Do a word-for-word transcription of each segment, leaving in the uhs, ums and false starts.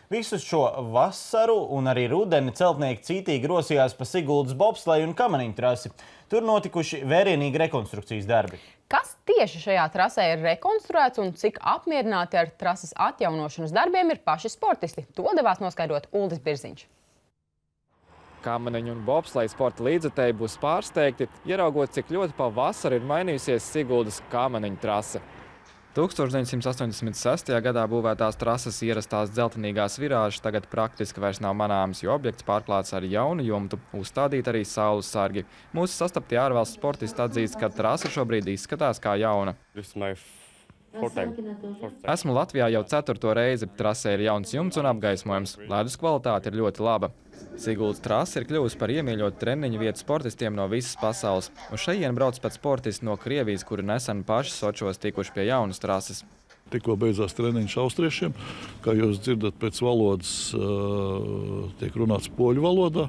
Visu šo vasaru un arī rudeni celtnieki cītīgi rosījās pa Siguldas bobsleju un kamaniņu trasi. Tur notikuši vērienīgi rekonstrukcijas darbi. Kas tieši šajā trasē ir rekonstruēts un cik apmierināti ar trases atjaunošanas darbiem ir paši sportisti? To devās noskaidrot Uldis Birziņš. Kamaniņu un bobsleju sporta līdzekļi būs pārsteigti, ieraugot, cik ļoti pavasarī ir mainījusies Siguldas kamaniņu trase. tūkstoš deviņsimt astoņdesmit sestajā gadā būvētās trases ierastās dzeltenīgās virāžas tagad praktiski vairs nav manāmas, jo objekts pārklāts ar jaunu jumtu, uzstādīt arī saules sargi. Mūsu sastaptie ārvalstu sportisti atzīst, ka trase šobrīd izskatās kā jauna. Esmu Latvijā jau ceturto reizi. Trasē ir jauns jumts un apgaismojums. Ledus kvalitāte ir ļoti laba. Siguldas trase ir kļuvusi par iemīļotu treniņu vietu sportistiem no visas pasaules. Uz šejien brauc pat sportisti no Krievijas, kuri nesen paši Sočos tikuši pie jaunas trases. Tikko beidzās treniņš austriešiem. Kā jūs dzirdat, pēc valodas uh, tiek runāts poļu valodā.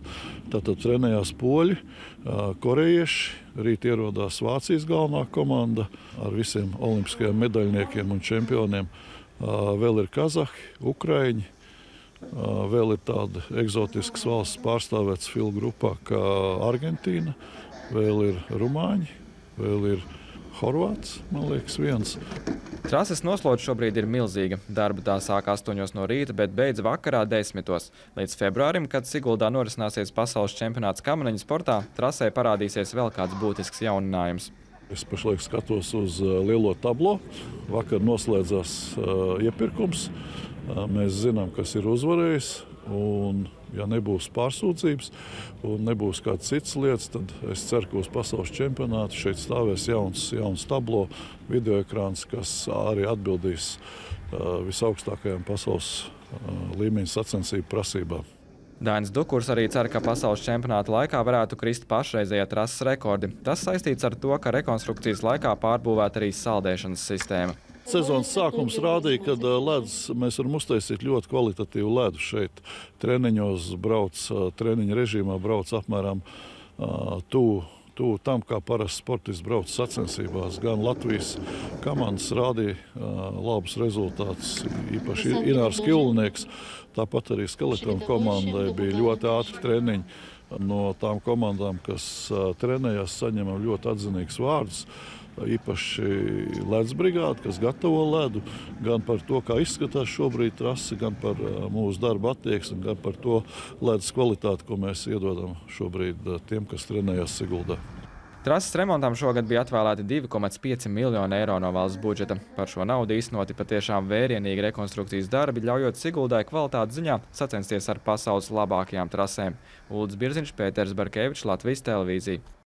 Tātad trenējās poļi, uh, korejieši. Rīt ierodās Vācijas galvenā komanda ar visiem olimpiskajiem medaļniekiem un čempioniem. Uh, vēl ir kazahi, ukraiņi. Uh, vēl ir tāda eksotiskas valsts pārstāvēts filu grupā kā Argentīna. Vēl ir rumāņi, vēl ir horvāts, man liekas, viens. Trases noslote šobrīd ir milzīga. Darba tā sāk astoņos no rīta, bet beidz vakarā desmitos. Līdz februārim, kad Siguldā norisināsies pasaules čempionāts kamaniņu sportā, trasē parādīsies vēl kāds būtisks jauninājums. Es pašlaik skatos uz lielo tablo. Vakar noslēdzās uh, iepirkums. Uh, mēs zinām, kas ir uzvarējis. Un, ja nebūs pārsūdzības un nebūs kāds cits lietas, tad es ceru, ka uz pasaules čempionātu šeit stāvēs jauns, jauns tablo, videoekrāns, kas arī atbildīs uh, visaugstākajām pasaules uh, līmeņa sacensību prasībām. Dainis Dukurs arī cer, ka pasaules čempionāta laikā varētu krist pašreizējā trases rekordi. Tas saistīts ar to, ka rekonstrukcijas laikā pārbūvēta arī saldēšanas sistēma. Sezonas sākums rādīja, ka ledus mēs varam uztaisīt ļoti kvalitatīvu ledu šeit. Treniņos brauc, treniņa režīmā brauc apmēram tuvu, tuvu tam, kā parasts sportists brauc sacensībās. Gan Latvijas komandas rādīja labus rezultātus, īpaši Inārs Kilnieks. Tāpat arī Skeletona komandai bija ļoti ātri treniņi. No tām komandām, kas trenējās, saņemam ļoti atzinīgus vārdus. Īpaši ledus brigāde, kas gatavo ledu, gan par to, kā izskatās šobrīd trase, gan par mūsu darba attieksmi, gan par to ledus kvalitāti, ko mēs iedodam šobrīd tiem, kas trenējās Siguldā. Trases remontam šogad bija atvēlēti divi komats pieci miljoni eiro no valsts budžeta. Par šo naudu īstenoti patiešām vērienīgi rekonstrukcijas darbi, ļaujot Siguldai kvalitātes ziņā sacensties ar pasaules labākajām trasēm. Uldis Birziņš, Pēters Barkevičs, Latvijas televīzija.